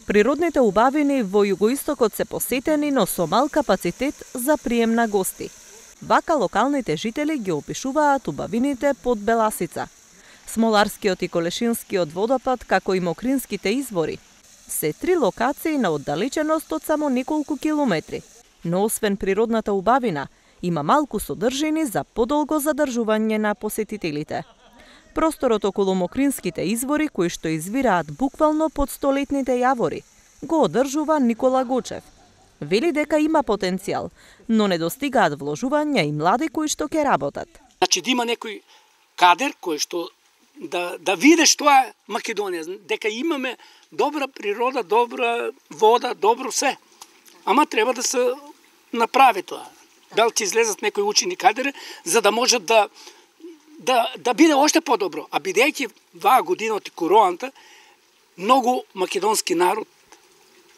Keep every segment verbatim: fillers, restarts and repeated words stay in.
Природните убавини во југоистокот се посетени, но со мал капацитет за прием на гости. Вака локалните жители ги опишуваат убавините под Беласица. Смоларскиот и Колешинскиот водопад, како и Мокринските извори, се три локации на оддалеченост од само неколку километри. Но освен природната убавина, има малку содржини за подолго задржување на посетителите. Просторот околу Мокринските извори, кои што извираат буквално под столетните јавори, го одржува Никола Гочев. Вели дека има потенцијал, но не достигаат вложувања и млади кои што ќе работат. Значи да има некој кадер кој што да да види што е Македонија, дека имаме добра природа, добра вода, добро се. Ама треба да се направи тоа. Дали ќе излезат некои учени кадри за да можат да да да биде уште подобро. А бидејќи ваа година од короната, многу македонски народ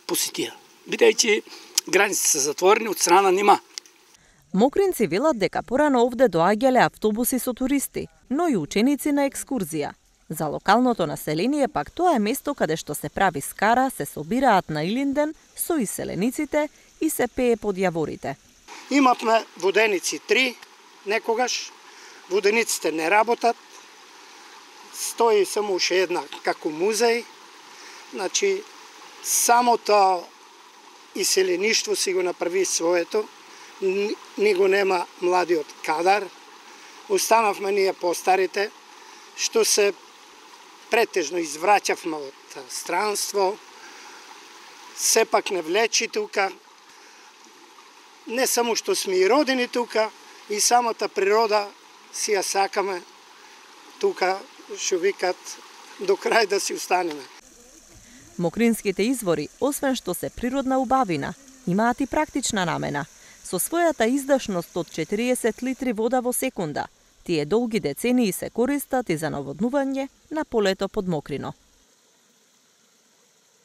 посетија. Бидејќи границите се затворени од страна нима. Мокринци велат дека порано овде доаѓале автобуси со туристи, но и ученици на екскурзија. За локалното население пак тоа е место каде што се прави скара, се собираат на Илинден со иселениците и се пее под јаворите. Имавме воденици три, некогаш. Водениците не работат. Стои само уште една како музеј. Значи, самото иселеништво си го направи своето. Него нема младиот кадар. Останавме ние постарите, што се претежно извраќавме од странство. Сепак не влечи тука. Не само што сме и родени тука, и самата природа си ја сакаме тука, што викат, до крај да си останеме. Мокринските извори, освен што се природна убавина, имаат и практична намена. Со својата издашност од четириесет литри вода во секунда, тие долги децении се користат и за наводнување на полето под Мокрино.